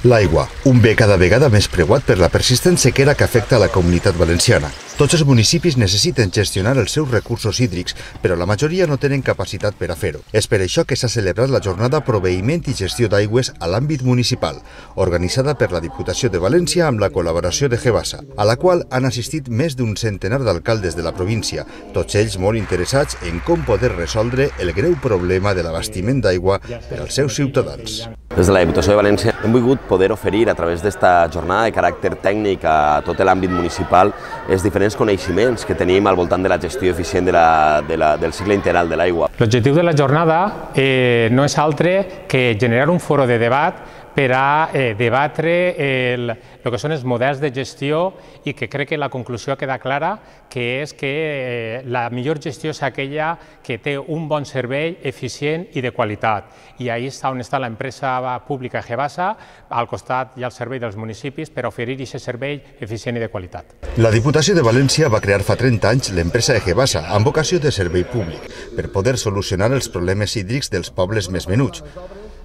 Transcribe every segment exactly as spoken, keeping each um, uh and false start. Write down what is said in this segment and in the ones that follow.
L'aigua, un bé cada vegada més preuat per la persistent sequera que afecta la Comunitat Valenciana. Tots els municipis necessiten gestionar els seus recursos hídrics, però la majoria no tenen capacitat per a fer-ho. És per això que s'ha celebrat la jornada Proveïment i Gestió d'Aigües a l'àmbit municipal, organitzada per la Diputació de València amb la col·laboració de Gebasa, a la qual han assistit més d'un centenar d'alcaldes de la província, tots ells molt interessats en com poder resoldre el greu problema de l'abastiment d'aigua per als seus ciutadans. Des de la Diputació de València hem volgut poder oferir a través d'esta jornada de caràcter tècnic a tot l'àmbit municipal els diferents coneixements que tenim al voltant de la gestió eficient de la, de la, del cicle integral de l'aigua. L'objectiu de la jornada eh, no és altre que generar un foro de debat per a eh, debatre el, el que són els models de gestió i que crec que la conclusió queda clara, que és que eh, la millor gestió és aquella que té un bon servei eficient i de qualitat. I ahí està on està l'empresa pública Gebasa, al costat hi ha el servei dels municipis per oferir aquest servei eficient i de qualitat. La Diputació de València va crear fa trenta anys l'empresa Gebasa amb vocació de servei públic per poder solucionar els problemes hídrics dels pobles més menuts.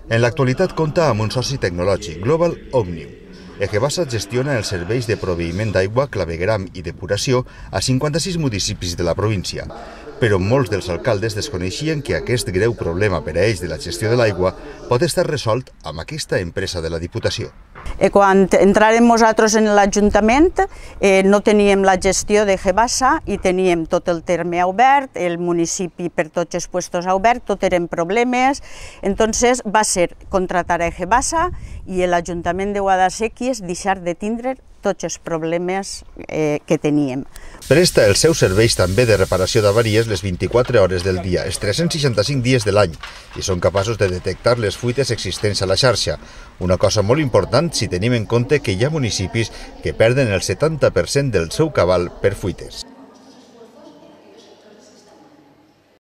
En l'actualitat compta amb un soci tecnològic, Global Omnium. Gebasa gestiona els serveis de proveïment d'aigua, clavegueram i depuració a cinquanta-sis municipis de la província, però molts dels alcaldes desconeixien que aquest greu problema per a ells de la gestió de l'aigua pot estar resolt amb aquesta empresa de la Diputació. Eh, quan entràrem nosaltres en l'Ajuntament eh, no teníem la gestió de Gebasa i teníem tot el terme obert, el municipi per tots els puestos obert, tot eren problemes. Entonces va ser contratar a Gebasa i l'Ajuntament de Guadasséquies deixar de tindre tots els problemes eh, que teníem. Presta els seus serveis també de reparació d'avaries les vint-i-quatre hores del dia, els tres-cents seixanta-cinc dies de l'any, i són capaços de detectar les fuites existents a la xarxa. Una cosa molt important si tenim en compte que hi ha municipis que perden el setanta per cent del seu cabal per fuites.